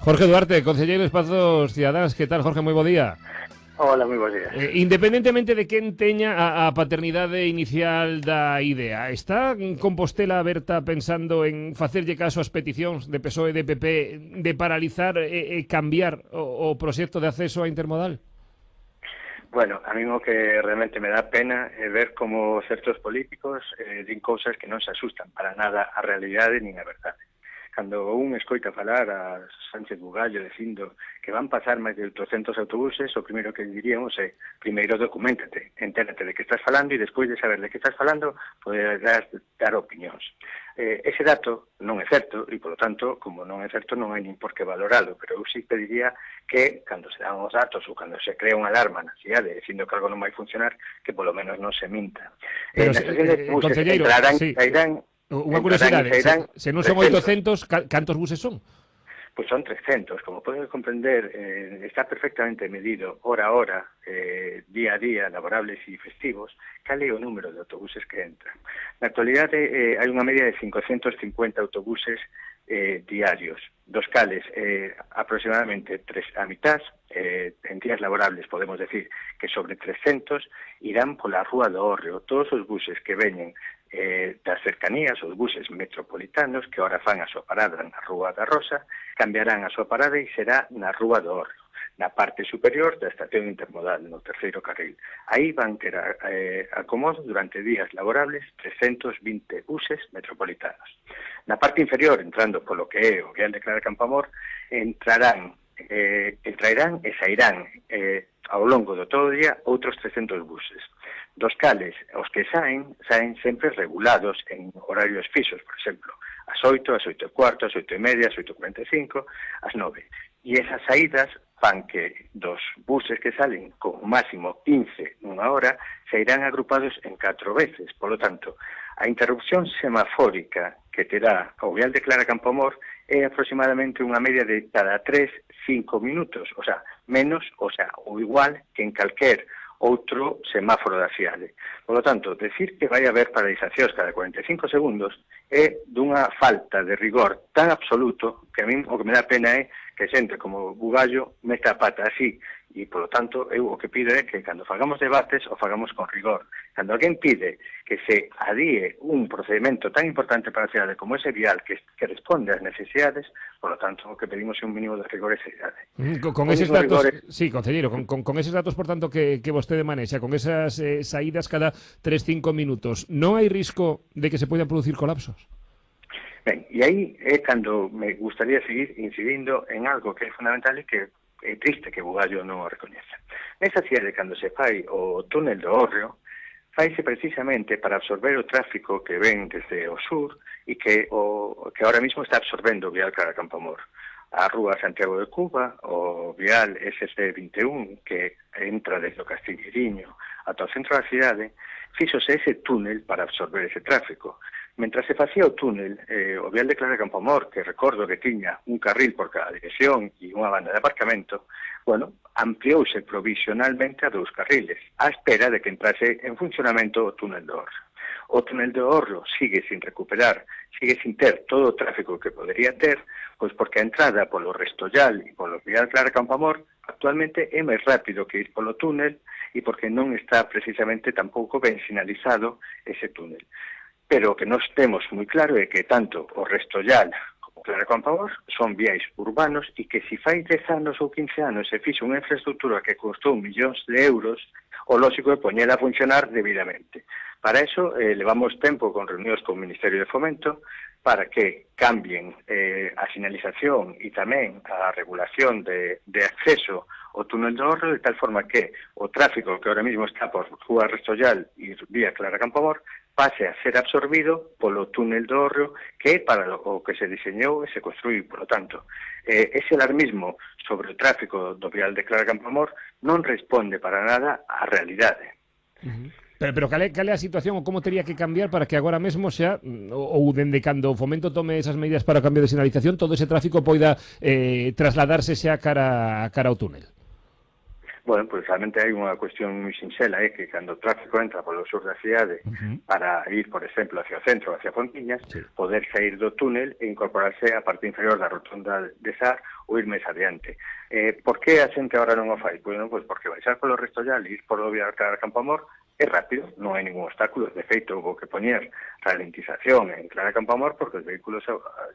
Jorge Duarte, concelleiro de Espazos Cidadáns. Que tal, Jorge? Moi bo día. Hola, moi bons días. Independentemente de quen teña a paternidade inicial da idea, está Compostela aberta pensando en facerlle caso ás peticións de PSOE e de PP de paralizar e cambiar o proxecto de acceso a intermodal? Bueno, a mí o que realmente me dá pena é ver como certos políticos din cousas que non se asustan para nada a realidade nin a verdade. Cando un escoita falar a Sánchez Bugallo dicindo que van pasar máis de 800 autobuses, o primeiro que diríamos é, primeiro documentate, entérate de que estás falando e despois de saber de que estás falando, poderás dar opinións. Ese dato non é certo e, polo tanto, como non é certo, non hai nin por que valoralo, pero eu sí pediría que, cando se dan os datos ou cando se crea unha alarma na cidade dicindo que algo non vai funcionar, que polo menos non se minta. Pero, concelleiro, sí. Sairán. Unha curiosidade, se non son 800, cantos buses son? Pois son 300, como podes comprender, está perfectamente medido hora a hora, día a día, laborables e festivos, cal é o número de autobuses que entran. Na actualidade hai unha media de 550 autobuses diarios, dos cales aproximadamente a mitad, en días laborables podemos decir que sobre 300 irán pola Rúa do Hórreo. Todos os buses que veñen das cercanías, os buses metropolitanos que ahora fan a súa parada na Rúa da Rosa, cambiarán a súa parada e será na Rúa do Hórreo, na parte superior da estación intermodal, no terceiro carril. Aí van ter acomodo durante días laborables 320 buses metropolitanos. Na parte inferior, entrando polo que é o Vial de Clara Campoamor, entraerán e sairán ao longo do todo o día outros 300 buses, dos cales os que saen sempre regulados en horarios fixos, por exemplo, ás 8, ás 8:15, ás 8:30, ás 8:45, ás 9. E esas saídas fan que dos buses que salen con máximo 15 nunha hora sairán agrupados en 4 veces. Por lo tanto, a interrupción semafórica que terá o Vial de Clara Campoamor é aproximadamente unha media de cada 3-5 minutos, o sea, menos, ou igual que en calquer outro semáforo da cidade. Por lo tanto, decir que vai haber paralizacións cada 45 segundos é dunha falta de rigor tan absoluto que a mí o que me dá pena é que xente como Bugallo meta a pata así, e, polo tanto, eu o que pido é que cando fagamos debates o fagamos con rigor. Cando alguén pide que se adíe un procedimento tan importante para a cidade como ese vial que responde ás necesidades, polo tanto, o que pedimos é un mínimo de rigor esa cidade. Con eses datos, sí, concelleiro, con eses datos, por tanto, que vostede manexa, con esas saídas cada 3-5 minutos, non hai risco de que se poidan producir colapsos? Ben, e aí é cando me gustaría seguir incidindo en algo que é fundamental e que é triste que Bugallo non o recoñeza. Nesa cidade, cando se fai o túnel do Hórreo, faise precisamente para absorber o tráfico que ven desde o sur e que ahora mismo está absorbendo o Vial Clara Campoamor. A Rúa Santiago de Cuba, o Vial SC21, que entra desde o Castilleriño ata o centro da cidade, fixose ese túnel para absorber ese tráfico. Mentras se facía o túnel, o Vial de Clara Campoamor, que recordo que tiña un carril por cada dirección e unha banda de aparcamento, bueno, ampliouse provisionalmente a 2 carriles, á espera de que entrase en funcionamento o túnel do Hórreo. O túnel do Hórreo sigue sin recuperar, sigue sin ter todo o tráfico que podería ter, pois porque a entrada polo Restollal e polo Vial Clara Campoamor actualmente é máis rápido que ir polo túnel e porque non está precisamente tampouco ben sinalizado ese túnel. Pero o que nos temos moi claro é que tanto o Restollal como Clara Campoamor son viais urbanos e que se fai 10 anos ou 15 anos se fixe unha infraestructura que costou millóns de euros, o lógico é poñela a funcionar debidamente. Para eso levamos tempo con reunións con o Ministerio de Fomento para que cambien a sinalización e tamén a regulación de acceso ao túnel do Hórreo de tal forma que o tráfico que ahora mismo está por Rúa Restollal e vía Clara Campoamor pase a ser absorbido polo túnel do Hórreo, que é para o que se diseñou e se construiu. Por lo tanto, ese alarmismo sobre o tráfico do Vial de Clara Campoamor non responde para nada á realidade. Pero cal é a situación ou como teria que cambiar para que agora mesmo xa, ou dende cando o Fomento tome esas medidas para o cambio de sinalización, todo ese tráfico poida trasladarse xa cara ao túnel? Bueno, pues realmente hai unha cuestión moi sinxela, que cando o tráfico entra polo sur da cidade para ir, por exemplo, hacia o centro, hacia Pontiñas, poder sair do túnel e incorporarse á parte inferior da rotonda de Sar ou ir máis adiante. Por que a xente agora non o fai? Bueno, pues porque baixar polo Restollal e ir polo Vía Clara Campoamor é rápido, non hai ningún obstáculo. De feito, houve que poñer ralentización en Clara Campoamor porque os vehículos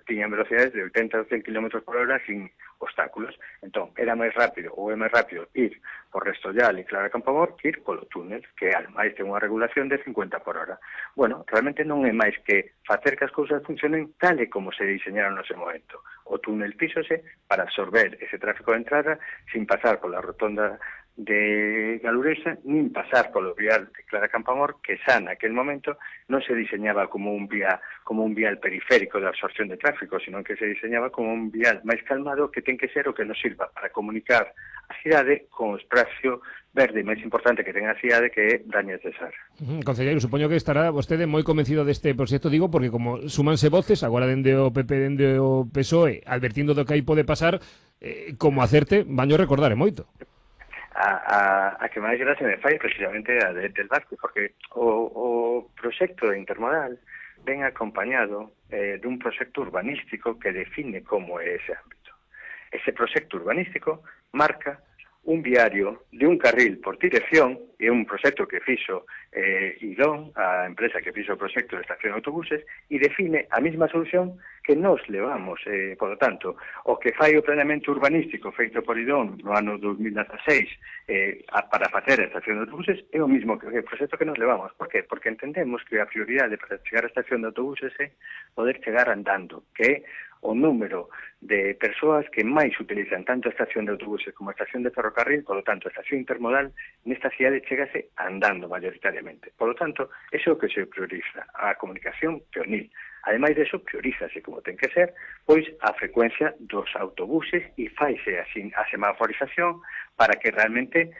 tiñan velocidades de 80 ou 100 km por hora sin obstáculos. Entón, era máis rápido ou é máis rápido ir por Restollal e Clara Campoamor que ir polo túnel, que ademais ten unha regulación de 50 por hora. Bueno, realmente non é máis que facer que as cousas funcionen tal e como se diseñaron no ese momento. O túnel fíxose para absorber ese tráfico de entrada sin pasar pola rotonda de Galuresa, nin pasar polo vial de Clara Campoamor, que xa naquel momento non se diseñaba como un vial periférico de absorción de tráfico, sino que se diseñaba como un vial máis calmado que ten que ser o que nos sirva para comunicar a cidade con o espacio verde máis importante que ten a cidade, que é Dañas de Sar. Concelleiro, supoño que estará vostede moi convencido deste proxecto, digo, porque como súmanse voces, agora dende o PP, dende o PSOE, advertindo do que aí pode pasar, como acerte, vaño recordar moito. A que máis gracia me fai precisamente a del Vasco, porque o proxecto intermodal ven acompañado dun proxecto urbanístico que define como é ese ámbito. Ese proxecto urbanístico marca un viario de un carril por dirección, e un proxecto que fixo Idón, a empresa que fixo o proxecto de estación de autobuses, e define a mesma solución que nos levamos. Por lo tanto, o que fai o planeamento urbanístico feito por Idón no ano 2016 para facer a estación de autobuses é o mesmo que o proxecto que nos levamos. Por qué? Porque entendemos que a prioridade para chegar á estación de autobuses é poder chegar andando, que é o número de persoas que máis utilizan tanto a estación de autobuses como a estación de ferrocarril. Por lo tanto, a estación intermodal nesta cidade chegase andando mayoritariamente. Por lo tanto, eso é o que se prioriza, a comunicación peonil. Ademais de eso, priorízase, como ten que ser, pois a frecuencia dos autobuses e faise así a semaforización para que realmente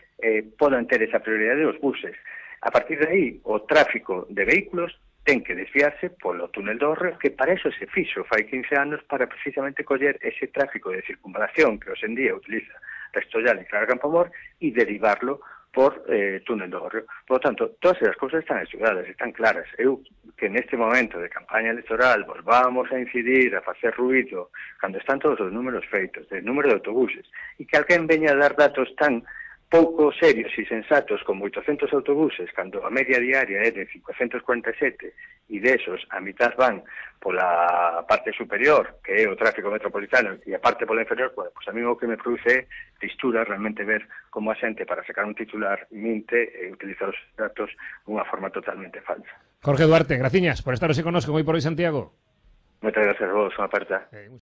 podan ter esa prioridade dos buses. A partir de aí, o tráfico de vehículos ten que desviarse polo túnel do Hórreo, que para eso se fixo fai 15 anos, para precisamente coller ese tráfico de circunvalación que hoxe en día utiliza Restollal e Clara Campoamor e derivarlo por túnel do Hórreo. Por lo tanto, todas esas cousas están estudadas, están claras. Eu que neste momento de campaña electoral volvamos a incidir, a facer ruído, cando están todos os números feitos, de número de autobuses, e que alguén veña a dar datos tan pouco serios e sensatos como 800 autobuses, cando a media diaria é de 547, e desos a mitad van pola parte superior, que é o tráfico metropolitano, e a parte pola inferior, pues a mí o que me produce tristura realmente ver como a xente para sacar un titular minte e utiliza os datos dunha forma totalmente falsa. Jorge Duarte, graciñas por estar hoxe connosco moi por hoy, Santiago. Moitas gracias a vos, unha aperta.